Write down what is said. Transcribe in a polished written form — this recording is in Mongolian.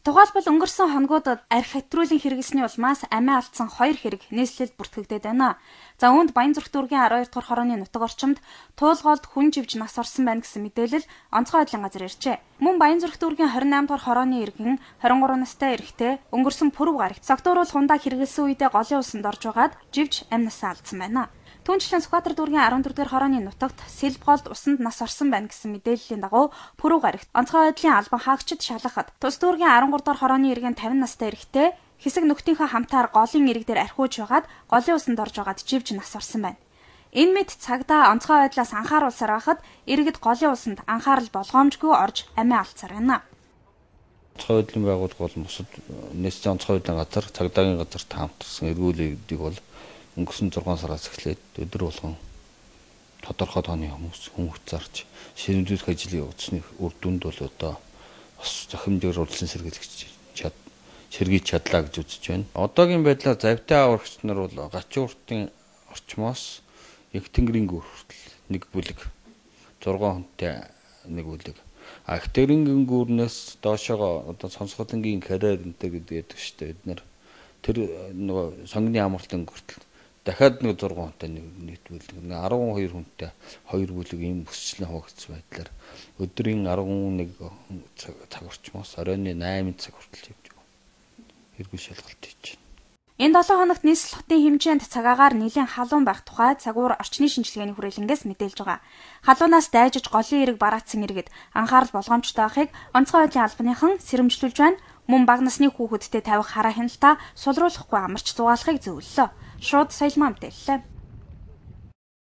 Тухайлбал өнгөрсөн хоногудад архи хэтрүүлэн хэрэглэсний улмаас амиа алдсан 2 хэрэг нийслэлд бүртгэгдээд байна. За үүнд Баянзүрх дүүргийн 12 дугаар хорооны нутаг орчимд туулгоолд хүн живж нас орсон байна гэсэн мэдээлэл онцгой байдлын газар иржээ. Мөн Баянзүрх дүүргийн 28 дугаар хорооны иргэн 23 настай эрэгтэй өнгөрсөн пүрэв гарагт согтууруул хундаа хэрэглэсэн үедээ голын усанд орж байгаад живж амь насаа алдсан байна. Түүнчлэн Сүхбаатар дүүргийн 14 дугаар хорооны нутагт Сэлбголд усанд нас орсон байна гэсэн мэдээллийн дагуу пүрэв гарагт онцгой байдлын албан хаагчид шалгахад тус дүүргийн 13 дугаар хорооны иргэн 50 настай эрэгтэй хэсэг нөхдийнхөө хамтаар голын ирэг дээр архиуж байгаад голын усанд орж байгаад живж нас орсон байна. Энэ мэд цагдаа онцгой байдлаас анхааруулсаар байхад иргэд голын усанд анхаарал болгоомжгүй орж амиа алдсаар байна. Онцгой байдлын байгууллага бол бусад нийслэлийн онцгой байдлын газар, цагдаагийн газарт хамтарсан эргүүлэгдийг бол өнгөрсөн 6 сараас эхлээд өдөр болгон тодорхой тооны хүмүүс зарж ширэмжлэх ажлыг явуулсны үр дүнд бол одоо бас зохимжоор урьдчилан сэргийж чадлаа гэж үзэж байна. Одоогийн байдлаар завтай аврагч нар бол Гачин уртын орчмоос Их Тэнгэрийн гүр хүртэл нэг бүлэг 6 хүнтэй нэг бүлэг. Их Тэнгэрийн гүрнээс доошоо одоо Сонсголонгийн карьер энтэй гэдэг шүү дээ. Бид нар тэр нөгөө сонгины амралтын хүртэл дахиад нэг 6 хүнтэй нэг бүлэг 12 хүнтэй 2 бүлэг ийм өсчлэн хуваагдсан байдлаар өдрийн 11 цаг орчмоос оройн 8 цаг хүртэл явж байгаа. Эргүүл шалгалт хийж байна. Энэ 7 хоногт нийслэл хотын хэмжээнд цагаагаар нэлээд халуун байх тухай цагуур орчны шинжилгээний хүрээлэнгээс мэдээлж байгаа. Халуунаас дайжиж голын эрэг бараацсан иргэд анхаарал болгоомжтой байхыг онцгой байдлын албаныхан сэрэмжлүүлж байна. Мөн бага насны хүүхэдтэй тавих хараа хяналтаа сулруулахгүй амарч зугаалахыг зөвлөлөө. Шууд соёлмаа мэдээллээ.